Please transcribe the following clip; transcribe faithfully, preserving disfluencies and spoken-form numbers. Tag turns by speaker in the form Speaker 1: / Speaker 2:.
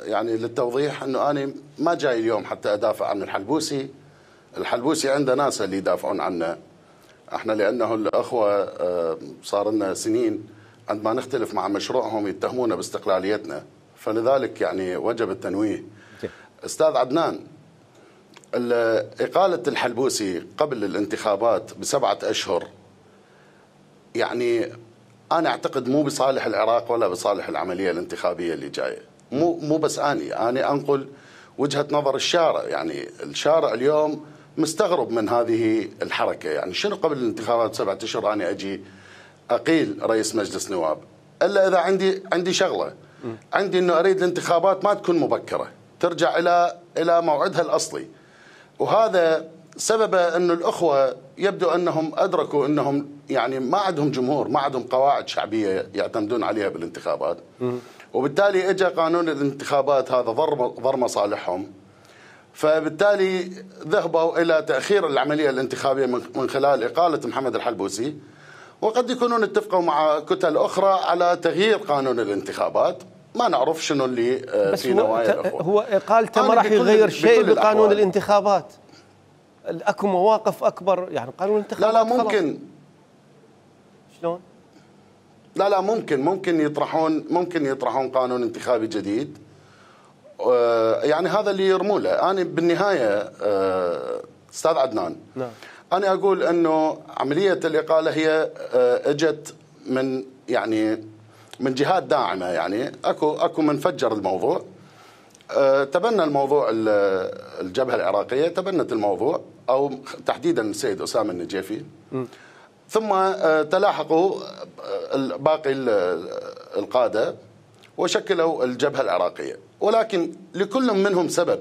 Speaker 1: يعني للتوضيح انه انا ما جاي اليوم حتى ادافع عن الحلبوسي. الحلبوسي عنده ناس اللي يدافعون عنه. احنا لانه الاخوه صار لنا سنين عندما نختلف مع مشروعهم يتهمونا باستقلاليتنا، فلذلك يعني وجب التنويه. استاذ عدنان، اقاله الحلبوسي قبل الانتخابات بسبعه اشهر يعني انا اعتقد مو بصالح العراق ولا بصالح العمليه الانتخابيه اللي جايه. مو مو بس اني انا انقل وجهه نظر الشارع. يعني الشارع اليوم مستغرب من هذه الحركه. يعني شنو قبل الانتخابات بسبعه اشهر انا اجي اقيل رئيس مجلس نواب، الا اذا عندي عندي شغله، عندي انه اريد الانتخابات ما تكون مبكره، ترجع الى الى موعدها الاصلي. وهذا سببه انه الاخوه يبدو انهم ادركوا انهم يعني ما عندهم جمهور، ما عندهم قواعد شعبيه يعتمدون عليها بالانتخابات، وبالتالي اجى قانون الانتخابات هذا ضر ضر مصالحهم، فبالتالي ذهبوا الى تاخير العمليه الانتخابيه من خلال اقاله محمد الحلبوسي، وقد يكونون اتفقوا مع كتل اخرى على تغيير قانون الانتخابات. ما نعرف شنو اللي في نوايا الاخوه.
Speaker 2: هو اقالته ما راح يغير شيء بقانون الانتخابات. اكو مواقف اكبر، يعني قانون الانتخابات
Speaker 1: لا لا ممكن خلاص.
Speaker 2: شلون؟
Speaker 1: لا لا ممكن ممكن يطرحون ممكن يطرحون قانون انتخابي جديد. يعني هذا اللي يرموا له. انا بالنهايه استاذ عدنان،
Speaker 2: نعم،
Speaker 1: انا اقول انه عمليه الاقاله هي اجت من يعني من جهات داعمه. يعني اكو اكو من فجر الموضوع، تبنى الموضوع الجبهه العراقيه، تبنت الموضوع او تحديدا السيد اسامه النجيفي، م. ثم تلاحقوا باقي القاده وشكلوا الجبهه العراقيه، ولكن لكل منهم سبب.